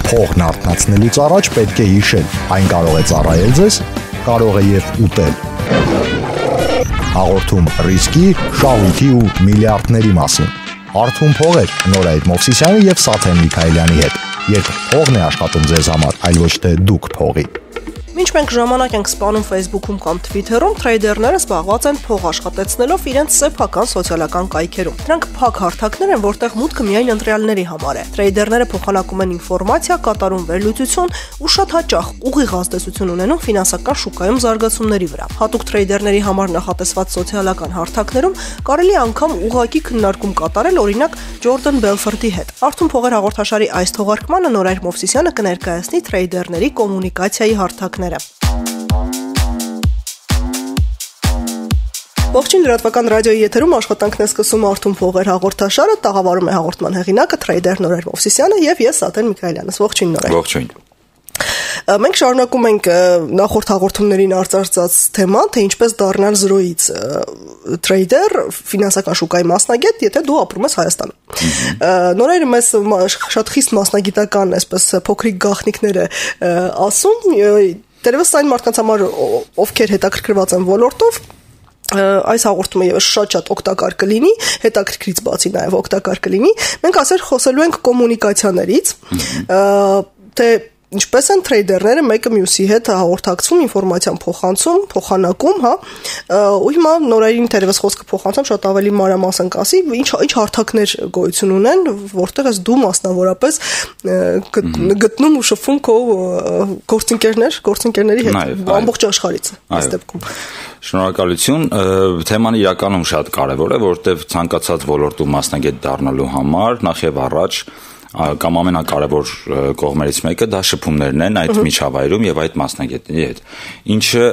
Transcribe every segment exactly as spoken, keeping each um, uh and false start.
Փողն արթնացնելուց առաջ պետք է հիշել, այն կարող է ծառայել ձեզ, կարող է եւ ուտել։ Հաղորդում ռիսկի, շահույթի ու միլիարդների մասին։ Հարթում փողեր Նորայր Մովսիսյանի եւ Սաթեն Միքայելյանի հետ։ Երբ փողն է աշխատում ձեզ համար, այլ ոչ թե դուք փողի։ Մինչ մենք ժամանակ ենք սպանում Facebook-ում կամ Twitter-ում, թրեյդերները զբաղված են փող աշխատեցնելով իրենց սեփական սոցիալական կայքերում։ Դրանք փակ հարթակներ են, որտեղ մուտքը միայն ընտրյալների համար է։ Թրեյդերները փոխանակում են ինֆորմացիա, կատարում վերլուծություն ու շատ հաճախ ուղիղ ազդեցություն ունենում ֆինանսական շուկայում զարգացումների վրա։ Հատուկ թրեյդերների համար նախատեսված սոցիալական հարթակներում կարելի է անգամ ուղղակի քննարկում կատարել, օրինակ Ջորդան Բելֆորդի հետ։ Արթուն փողեր հաղորդաշարի այս թողարկմանը Նորայր Մովսիսյանը կներկայացնի թրեյդերների կոմունիկացիայի հարթակները։ Ողջույն, լրատվական ռադիոյի եթերում աշխատանքն է սկսում Արթուն փողեր հաղորդաշարը, տաղավարում է հաղորդման հեղինակը թրեյդեր Նորայր Մովսիսյանը եւ ես Սաթեն Միքայելյանս։ Ողջույն Նորայր։ Ողջույն։ Մենք շարունակում ենք նախորդ հաղորդումներին արծարծած թեման, թե ինչպես դառնալ զրոյից թրեյդեր, ֆինանսական շուկայի մասնագետ, եթե դու ապրում ես Հայաստանում։ Նորայրը մեզ շատ խիստ մասնագիտական, այսպես փոքրիկ գաղտնիքներ է ասում, դերևս այն մարդկանց համար, ովքեր հետաքրքրված են ոլորտով, այս հաղորդումը եւս շատ-շատ օգտակար կլինի, հետաքրքրից բացի նաեւ օգտակար կլինի։ Մենք ասել խոսելու ենք կոմունիկացիաներից, թե ինչպես են թրեյդերները մեկը մյուսի հետ հաղորդակցում, ինֆորմացիան փոխանցում, փոխանակում, հա։ Ու հիմա Նորայրին թերևս խոսքը փոխանցում շատ ավելի մանրամասն կասի, ինչ ինչ հարթակներ գոյություն ունեն, որտեղ ես դու մասնավորապես գտնում ու շփվում քո գործընկերներ, գործընկերների հետ ամբողջ աշխարհից այս դեպքում։ Շնորհակալություն, թեման իրականում շատ կարևոր է, որտեղ ցանկացած ոլորտում մասնագետ դառնալու համար նախ եւ առաջ կամ ամենակարևոր կողմերից մեկը դա շփումներն են այդ միջավայրում եւ այդ մասնագետների հետ։ Ինչը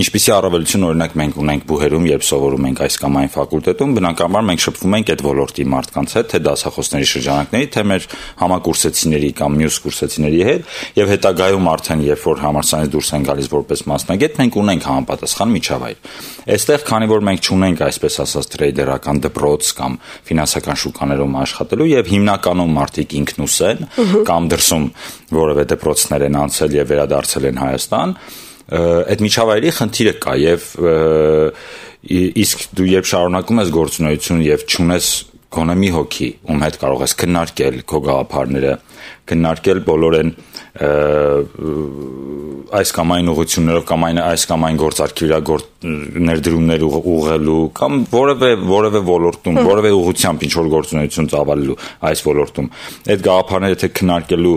ինչպիսի առավելություն օրինակ մենք ունենք բուհերում, երբ սովորում ենք այս կամ այն ֆակուլտետում, բնականաբար մենք շփվում ենք այդ ոլորտի մարդկանց հետ, թե դասախոսների շրջանակների, թե մեր համակուրսեցիների կամ մյուս կուրսեցիների հետ, եւ հետագայում արդեն երբ որ համալսարանից դուրս են գալիս որպես մասնագետ, մենք ունենք համապատասխան միջավայր։ Այստեղ, քանի որ մենք չունենք այսպես ասած թրեյդերական դպրոց կամ ֆինանսական շուկաներում աշխատելու եւ հիմնականում մարդիկ ինքնուս են կամ դրսում որևէ դպրոցներ են անցել եւ վերադարձել են Հայաստան, այդ միջավայրի խնդիրը կա եւ իսկ դու երբ շարունակում ես գործունեություն եւ չունես գոնե մի հոգի, ում հետ կարող ես քննարկել քո գաղափարները, քննարկել բոլորեն այս կամ այն ուղղություններով կամ այն այս կամ այն գործարքի վրա ներդրումներ ուղղելու կամ որևէ որևէ ոլորտում, որևէ ուղղությամբ ինչ որ գործունեություն ծավալելու այս ոլորտում, այդ գաղափարները թե քննարկելու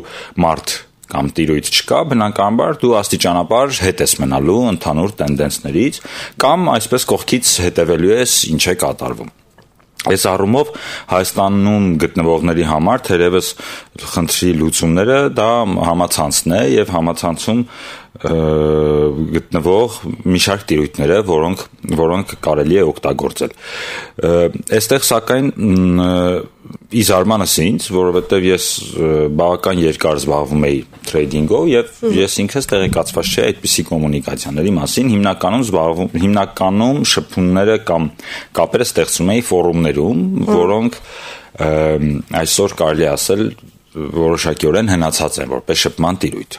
մարդ կամ տիրույթ չկա, բնականաբար դու աստիճանաբար հետ ես մնալու ընդհանուր տենդենսներից կամ այսպես կողքից հետևելու ես ինչ է կատարվում։ Այս առումով Հայաստանում գտնվողների համար թերևս խնդրի լուծումները դա համացանցն է եւ համացանցում գտնվող մի շարք տիրույթները, որոնք որոնք կարելի է օգտագործել։ Այստեղ սակայն ի զարմանս ինձ, որովհետև ես բավական երկար զբաղվում էի թրեյդինգով եւ ես ինքս տեղեկացված չէի այդպիսի կոմունիկացիաների մասին, հիմնականում զբաղվում հիմնականում շփումները կամ կապերը ստեղծում էի ֆորումներում, որոնք այսօր կարելի ասել որոշակիորեն հնացած են որպես շփման տիրույթ։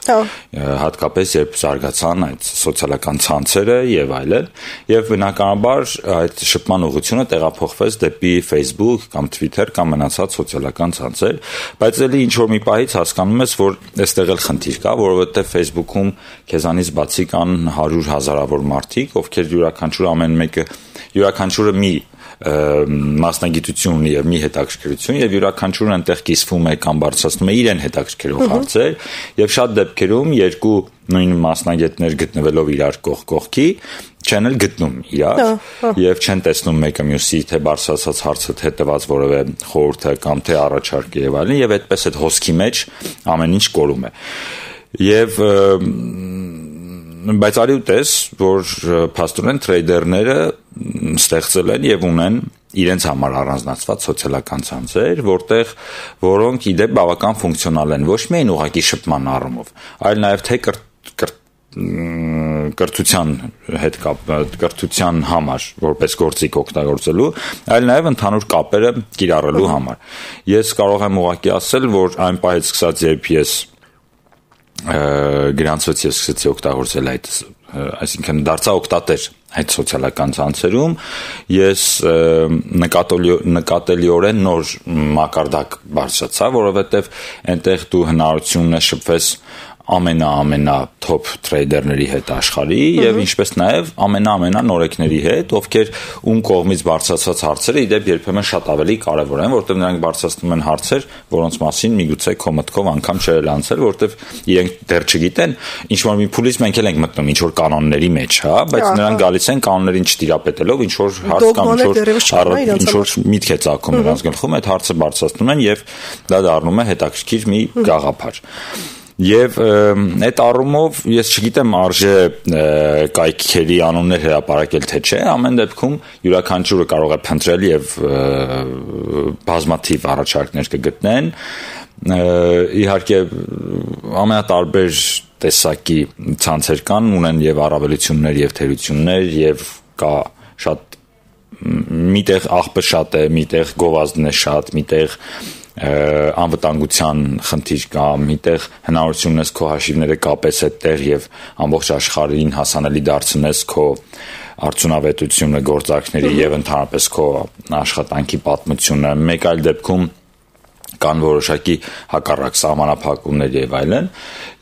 Հատկապես երբ զարգացան այդ սոցիալական ցանցերը եւ այլն, եւ բնականաբար այդ շփման ուղղությունը տեղափոխվեց դեպի Facebook կամ Twitter կամ մնացած սոցիալական ցանցեր, բայց ելի ինչ որ մի պահից հասկանում ես, որ այստեղ էլ խնդիր կա, որովհետեւ Facebook-ում քեզանից բացի կան հարյուր հազարավոր մարդիկ, ովքեր յուրաքանչյուր ամեն մեկը յուրաքանչյուրը մի մասնագիտություն եւ մի հետաքրքրություն եւ յուրաքանչյուրն այնտեղ կիսվում է կամ բարձրացնում է իրեն հետաքրքրող հարցեր եւ շատ դեպքերում երկու նույն մասնագետներ գտնվելով իրար կողք կողքի չեն էլ գտնում իրար եւ չեն տեսնում մեկը մյուսի թե բարձրացած հարցը թե տված որևէ խորհուրդը կամ թե առաջարկը եւ այլն եւ այդպես այդ հոսքի մեջ ամեն ինչ կորում է եւ բայց արի ու տես, որ փաստորեն թրեյդերները ստեղծել են եւ ունեն իրենց համար առանձնացված սոցիալական ցանցեր, որտեղ որոնք իդեպ բավական ֆունկցիոնալ են ոչ միայն ուղղակի շփման առումով, այլ նաեւ թե կրթության հետ կապ կրթության համար որպես գործիք օգտագործելու, այլ նաև ընդհանուր կապերը կիրառելու համար։ Ես կարող եմ ուղղակի ասել, որ այն պահից սկսած, երբ ես գրանցվեցի, ես սկսեցի օգտագործել այդ, այսինքն դարձա օգտատեր այդ սոցիալական ցանցերում, ես նկատելի նկատելիորեն նոր մակարդակ բարձրացա, որովհետև այնտեղ դու հնարավորություն ես շփվես ամենա-ամենա top trader-ների հետ աշխարհի եւ ինչպես նաեւ ամենա-ամենա նորեկների հետ, ովքեր ում կողմից բարձրացած հարցերը իդեպ երբեմն շատ ավելի կարեւոր են, որտեղ նրանք բարձրացնում են հարցեր, որոնց մասին միգուցե քո մտքով անգամ չէր անցել, որտեղ իրենք դեռ չգիտեն, ինչ որ մի փուլից մենք էլ ենք մտնում ինչ որ կանոնների մեջ, հա, բայց նրանք գալիս են կանոններին չտիրապետելով, ինչ որ հարց կամ ինչ որ ինչ որ միտք է ծագում նրանց գլխում, այդ հարցը բարձրացնում են եւ դա դառնում է հետաքրքիր մի գաղափար։ Եվ այդ առումով ես չգիտեմ արժե կայքերի անուններ հրապարակել թե չէ, ամեն դեպքում յուրաքանչյուրը կարող է փնտրել եւ բազմաթիվ առաջարկներ կգտնեն, իհարկե ամենատարբեր տեսակի ցանցեր կան, ունեն եւ առավելություններ եւ թերություններ եւ կա շատ միտեղ աղբը շատ է, միտեղ գովազդն է շատ, միտեղ անվտանգության խնդիր կա, միտեղ հնարավորություն ունես քո հաշիվները կապես այդտեղ եւ ամբողջ աշխարհին հասանելի դարձնես քո արդյունավետությունը գործարքների եւ ընդհանրապես քո աշխատանքի պատմությունը, մեկ այլ դեպքում կան որոշակի հակառակ սահմանափակումներ եւ այլն։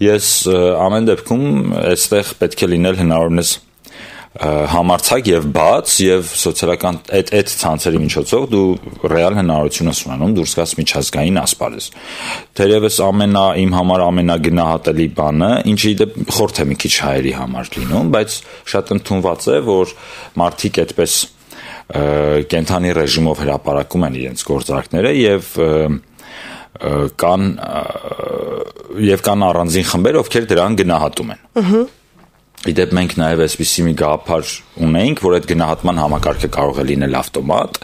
Ես ամեն դեպքում այստեղ պետք է լինել հնարավորինս համարձակ եւ բաց եւ սոցիալական այդ այդ ցանցերի միջոցով դու ռեալ հնարավորություն ես ունենում դուրս գաս միջազգային ասպարեզ։ Թերևս ամենա իմ համար ամենագնահատելի բանը, ինչը իդեպ խորթ է մի քիչ հայերի համար լինում, բայց շատ ընդունված է, որ մարդիկ այդպես կենթանի ռեժիմով հրապարակում են իրենց գործարքները եւ կան եւ կան առանձին խմբեր, ովքեր դրան գնահատում են։ Ահա Իդեպ մենք նաև այսպիսի մի գաղափար ունեինք, որ այդ գնահատման համակարգը կարող է լինել ավտոմատ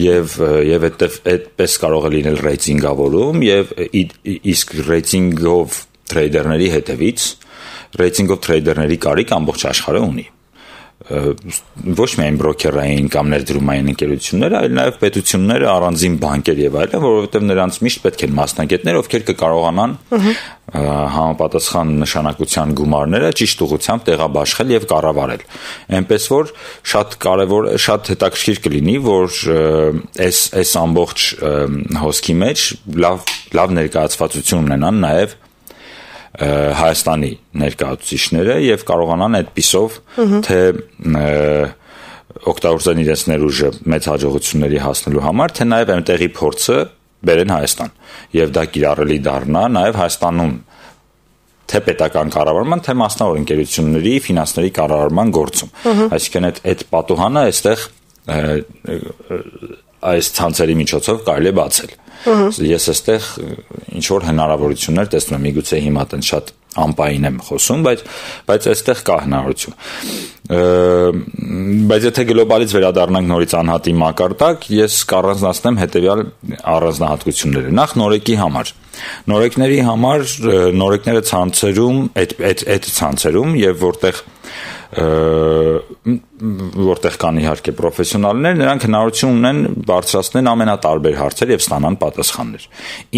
եւ եւ այդտեղ այդպես կարող է լինել ռեյտինգավորում եւ իսկ ռեյտինգով թրեյդերների հետևից ռեյտինգով թրեյդերների կարիք ամբողջ աշխարհը ունի։ Ոչ միայն բրոքերային կամ ներդրումային ընկերությունները, այլ նաև պետությունները, առանձին բանկեր եւ այլն, որովհետեւ նրանց միշտ պետք են մասնագետներ, ովքեր կկարողանան համապատասխան նշանակության գումարները ճիշտ ուղղությամբ տեղաբաշխել եւ կառավարել։ Այնպես որ շատ կարեւոր, շատ հետաքրքիր կլինի, որ այս այս ամբողջ հոսքի մեջ լավ լավ ներկայացվածություն ունենան նաև Հայաստանի ներկայացուցիչները եւ կարողանան այդպիսով թե օգտագործեն իրենց ներուժը մեծ հաջողությունների հասնելու համար, թե նաեւ այնտեղի փորձը բերեն Հայաստան եւ դա կիրառելի դառնա նաեւ Հայաստանում թե պետական կառավարման, թե մասնավոր ընկերությունների ֆինանսների կառավարման գործում։ Այսինքն այդ այդ պատուհանը այստեղ այս ցանցերի միջոցով կարելի է բացել։ Ես այստեղ ինչ որ հնարավորություններ տեսնում եմ, միգուցե հիմա տեն շատ անպային եմ խոսում, բայց բայց այստեղ կա հնարավորություն։ Բայց եթե գլոբալից վերադառնանք նորից անհատի մակարդակ, ես կառանձնացնեմ հետեւյալ առանձնահատկությունները։ Նախ նորեկի համար։ Նորեկների համար նորեկները ցանցերում, այդ այդ այդ ցանցերում եւ որտեղ որտեղ կան իհարկե պրոֆեսիոնալներ, նրանք հնարավորություն ունեն բարձրացնել ամենատարբեր հարցեր եւ ստանան պատասխաններ։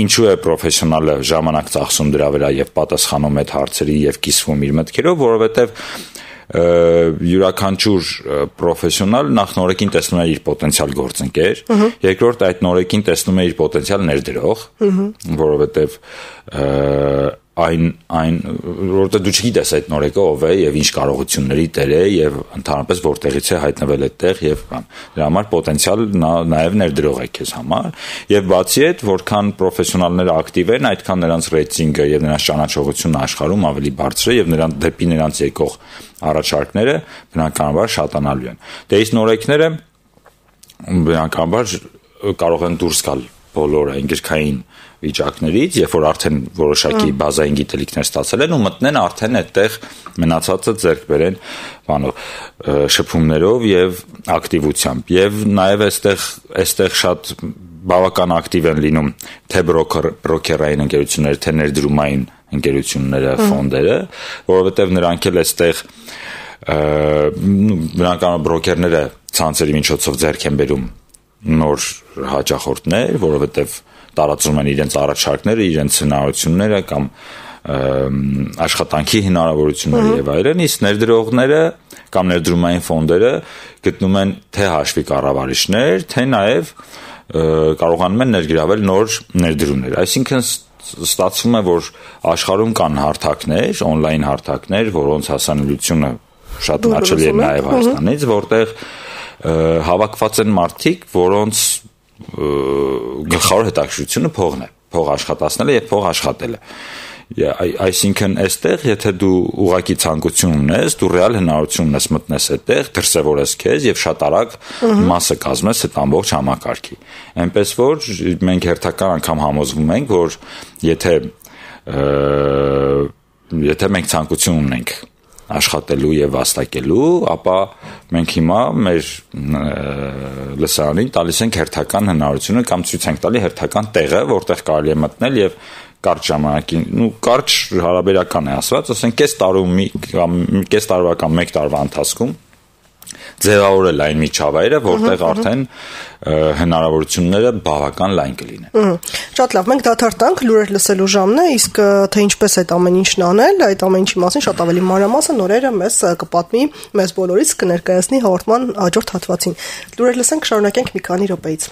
Ինչու է պրոֆեսիոնալը ժամանակ ծախսում դրա վրա եւ պատասխանում այդ հարցերի եւ կիսվում իր մտքերով, որովհետեւ յուրաքանչյուր պրոֆեսիոնալ նախ նորեկին տեսնում է իր պոտենցիալ գործընկեր, երկրորդ այդ նորեկին տեսնում է իր պոտենցիալ ներդրող, որովհետեւ այն այն որտեղ դու չգիտես այդ նորեկը ով է եւ ինչ կարողությունների տեր է եւ ընդհանրապես որտեղից է հայտնվել այդտեղ եւ բան դրա համար պոտենցիալ նաեւ ներդրող է քեզ համար եւ բացի այդ որքան պրոֆեսիոնալները ակտիվ են այդքան նրանց ռեյտինգը եւ նրանց ճանաչողությունը աշխարհում ավելի բարձր է եւ նրանց դեպի նրանց եկող առաջարկները բնականաբար շատանալու են դե իսկ նորեկները բնականաբար կարող են դուրս գալ բոլոր անգերքային վիճակներից, երբ որ արդեն որոշակի բազային գիտելիքներ ստացել են ու մտնեն արդեն այդտեղ մնացածը ձեռք բերեն բանով շփումներով եւ ակտիվությամբ եւ նաեւ այստեղ այստեղ շատ բավական ակտիվ են լինում թե բրոքեր բրոքերային ընկերությունները թե ներդրումային ընկերությունները, ֆոնդերը, որովհետև նրանք էլ այստեղ բնականաբար բրոկերները ցանցերի միջոցով ձեռք են բերում նոր հաճախորդներ, որովհետև տարածում են իրենց առաջարկները, իրենց հնարավորությունները կամ աշխատանքի հնարավորությունները եւ այլն, իսկ ներդրողները կամ ներդրումային ֆոնդերը գտնում են թե հաշվի կառավարիչներ, թե նաեւ կարողանում են ներգրավել նոր ներդրումներ։ Այսինքն ստացվում է, որ աշխարհում կան հարթակներ, on-line հարթակներ, որոնց հասանելիությունը շատ հաճելի է նաեւ Հայաստանից, որտեղ հավաքված են մարդիկ, որոնց գլխավոր հետաքրքրությունը փողն է, փող աշխատացնելը եւ փող աշխատելը։ Այսինքն այստեղ եթե դու ուղակի ցանկություն ունես, դու ռեալ հնարավորություն ունես մտնես այդտեղ, դրսևորես քեզ եւ շատ արագ մասը կազմես այդ ամբողջ համակարգի։ Այնպես որ մենք հերթական անգամ համոզվում ենք, որ եթե եթե մենք ցանկություն ունենք աշխատելու եւ վաստակելու, ապա մենք հիմա մեր լսարանին տալիս ենք հերթական հնարավորությունը կամ ցույց ենք տալի հերթական տեղը, որտեղ կարելի է մտնել եւ կարճ ժամանակին, ну կարճ հարաբերական է ասված, ասենք կես տարում կամ կես տարվա կամ մեկ տարվա ընթացքում ձևավորել այն միջավայրը, որտեղ արդեն հնարավորությունները բավական լայն կլինեն։ Շատ լավ, մենք դադարտանք, լուրեր լսելու ժամն է, իսկ թե ինչպես այդ ամեն ինչն անել, այդ ամեն ինչի մասին շատ ավելի մանրամասն նորերը մեզ կպատմի, մեզ բոլորից կներկայացնի հաղորդման հաջորդ հատվածին։ Լուրեր լսենք, շարունակենք մի քանի րոպեից։